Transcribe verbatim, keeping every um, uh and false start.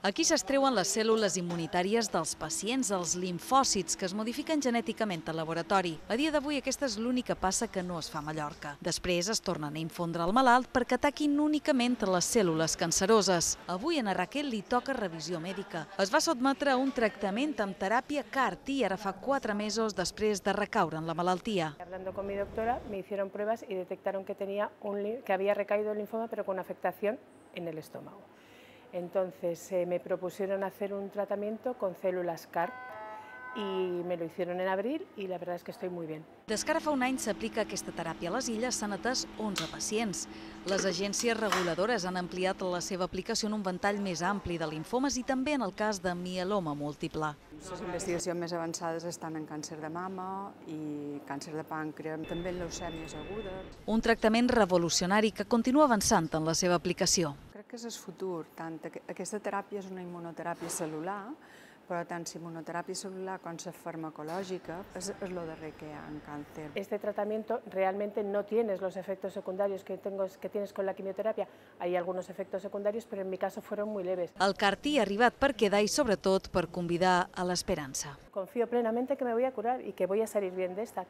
Aquí s'extreuen les cèl·lules immunitàries dels pacients, els limfòcits, que es modifiquen genèticament al laboratori. A dia d'avui aquesta és l'única passa que no es fa a Mallorca. Després es tornen a infondre al malalt perquè ataquin únicament les cèl·lules canceroses. Avui a Raquel li toca revisió mèdica. Es va sotmetre a un tractament amb teràpia C A R T ara fa quatre mesos després de recaure en la malaltia. Hablando con mi doctora, me hicieron pruebas y detectaron que, tenía un, que había recaído el linfoma, pero con afectación en el estómago. Entonces eh, me propusieron hacer un tratamiento con células C A R T y me lo hicieron en abril y la verdad es que estoy muy bien. Des que ara fa un any s'aplica aquesta teràpia a les Illes, s'han atès onze pacients. Les agències reguladores han ampliat la seva aplicació en un ventall més ampli de linfomes i també en el cas de mieloma múltiple. Les investigacions més avançades estan en càncer de mama i càncer de pàncreas, també en leucèmies agudes. Un tractament revolucionari que continua avançant en la seva aplicació. Crec que és el futur. Tant aquesta teràpia és una immunoteràpia cel·lular, però tant la immunoteràpia celular com la farmacològica és el darrer que hi ha en càncer. Este tratamiento realmente no tienes los efectos secundarios que, tengo, que tienes con la quimioterapia. Hay algunos efectos secundarios, pero en mi caso fueron muy leves. El C A R T ha arribat per quedar i sobretot per convidar a l'esperança. Confío plenamente que me voy a curar y que voy a salir bien de esta.